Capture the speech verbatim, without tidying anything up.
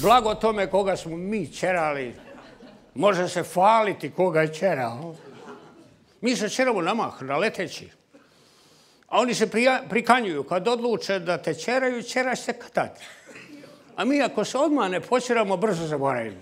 Blago tome koga smo mi čerali. Može se faliti koga je čerao. Mi se čeramo na mah, na leteći. A oni se prikanjuju. Kad odluče da te čeraju, čeraš se kad tad. A mi ako se odmah ne počeramo, brzo zaboravimo.